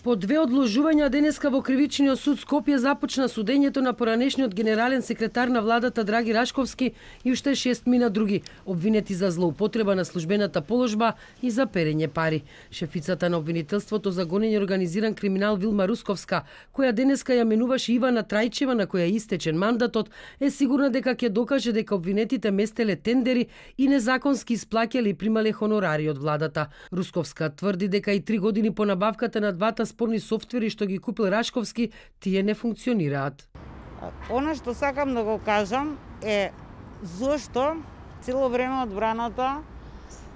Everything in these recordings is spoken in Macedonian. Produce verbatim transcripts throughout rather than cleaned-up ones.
По две одложувања денеска во Кривичниот суд Скопје започна судењето на поранешниот генерален секретар на владата Драги Рашковски и уште шест мина други, обвинети за злоупотреба на службената положба и за перење пари. Шефицата на обвинителството за гонење организиран криминал Вилма Русковска, која денеска ја менуваше Ивана Трајчева на која истечен мандатот, е сигурна дека ќе докаже дека обвинетите местеле тендери и незаконски исплаќале и примале хонорари од владата. Русковска тврди дека и три години по набавката на двата спорни софтвери што ги купил Рашковски, тие не функционираат. Она што сакам да го кажам е зошто цело време одбраната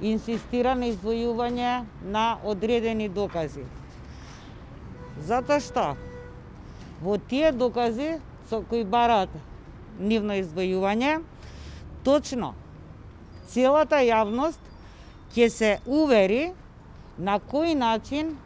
инсистира на издвојување на одредени докази. Затоа што во тие докази со кои бараат нивно издвојување, точно целата јавност ќе се увери на кој начин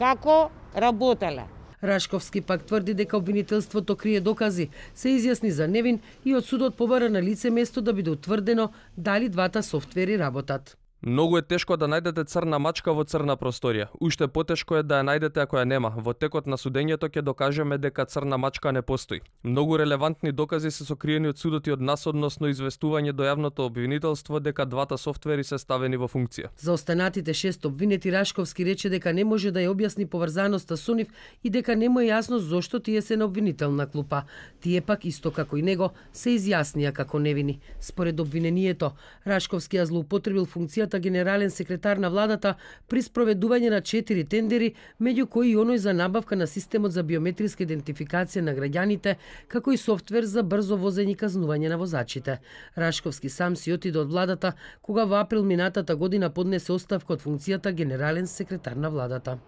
како работеле. Рашковски пак тврди дека обвинителството крие докази, се изјасни за невин и од судот побара на лице место да биде утврдено дали двата софтвери работат. Многу е тешко да најдете црна мачка во црна просторија. Уште потешко е да ја најдете ако ја нема. Во текот на судењето ќе докажеме дека црна мачка не постои. Многу релевантни докази се сокриени од судот и од нас односно известување до јавното обвинителство дека двата софтвери се ставени во функција. За останатите шест обвинети Рашковски рече дека не може да ја објасни поврзаноста со нив и дека не му е јасно зошто тие се на обвинителна клупа. Тие пак исто како и него се изјаснија како невини. Според обвинението, Рашковски ја злоупотребил функцијата генерален секретар на владата при спроведување на четири тендери, меѓу кои и оној за набавка на системот за биометриска идентификација на граѓаните, како и софтвер за брзо возење и казнување на возачите. Рашковски сам си отиде од владата кога во април минатата година поднесе оставка од функцијата генерален секретар на владата.